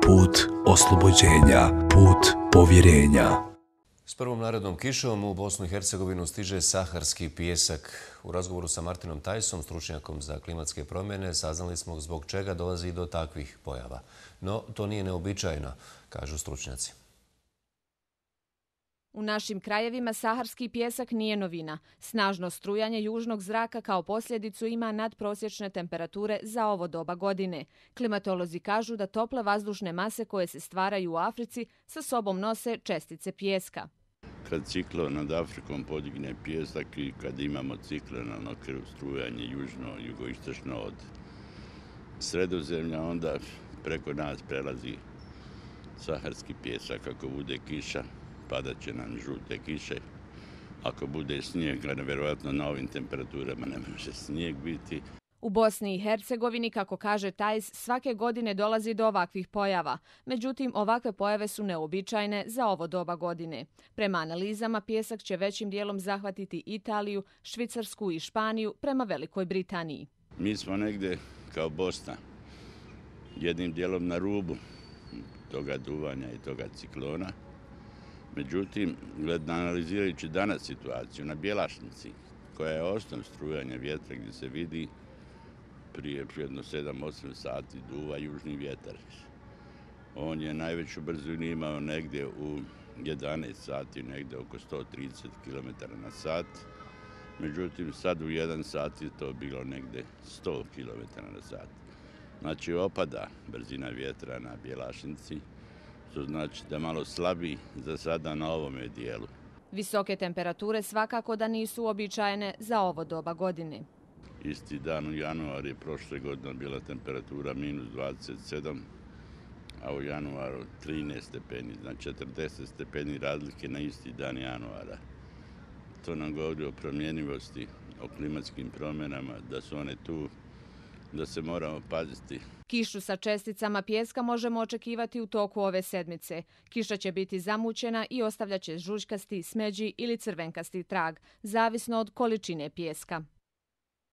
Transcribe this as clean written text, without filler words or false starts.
put oslobođenja, put povjerenja. S prvom narednom kišom u Bosnu i Hercegovinu stiže saharski pijesak. U razgovoru sa Martinom Tajsom, stručnjakom za klimatske promjene, saznali smo zbog čega dolazi do takvih pojava. No, to nije neobičajno, kažu stručnjaci. U našim krajevima saharski pijesak nije novina. Snažno strujanje južnog zraka kao posljedicu ima nadprosječne temperature za ovo doba godine. Klimatolozi kažu da tople vazdušne mase koje se stvaraju u Africi sa sobom nose čestice pijeska. Kad ciklon nad Afrikom podigne pijesak i kad imamo ciklonalno strujanje jugoistočno od Sredozemlja, onda preko nas prelazi saharski pijesak. Ako bude kiša, padat će nam žute kiše. Ako bude snijeg, vjerojatno na ovim temperaturama ne može snijeg biti. U Bosni i Hercegovini, kako kaže Tajs, svake godine dolazi do ovakvih pojava. Međutim, ovakve pojave su neobičajne za ovo doba godine. Prema analizama, pijesak će većim dijelom zahvatiti Italiju, Švicarsku i Španiju prema Velikoj Britaniji. Mi smo negdje kao Bosna, jednim dijelom na rubu toga duvanja i toga ciklona. Međutim, analizirajući danas situaciju na Bjelašnici, koja je osnov strujanja vjetra gdje se vidi prije jedno 7-8 sati duva južni vjetar. On je najveću brzinu imao negdje u 11 sati, negdje oko 130 km na sat. Međutim, sad u 1 sat je to bilo negdje 100 km na sat. Znači, opada brzina vjetra na Bjelašnici, što znači da malo slabiji za sada na ovome dijelu. Visoke temperature svakako da nisu uobičajene za ovo doba godine. Isti dan u januaru je prošle godine bila temperatura minus 27, a u januaru 13 stepeni, znači 40 stepeni razlike na isti dan januara. To nam govori o promjenjivosti, o klimatskim promjenama, da su one tu, da se moramo paziti. Kišu sa česticama pijeska možemo očekivati u toku ove sedmice. Kiša će biti zamućena i ostavljaće žućkasti, smeđi ili crvenkasti trag, zavisno od količine pijeska.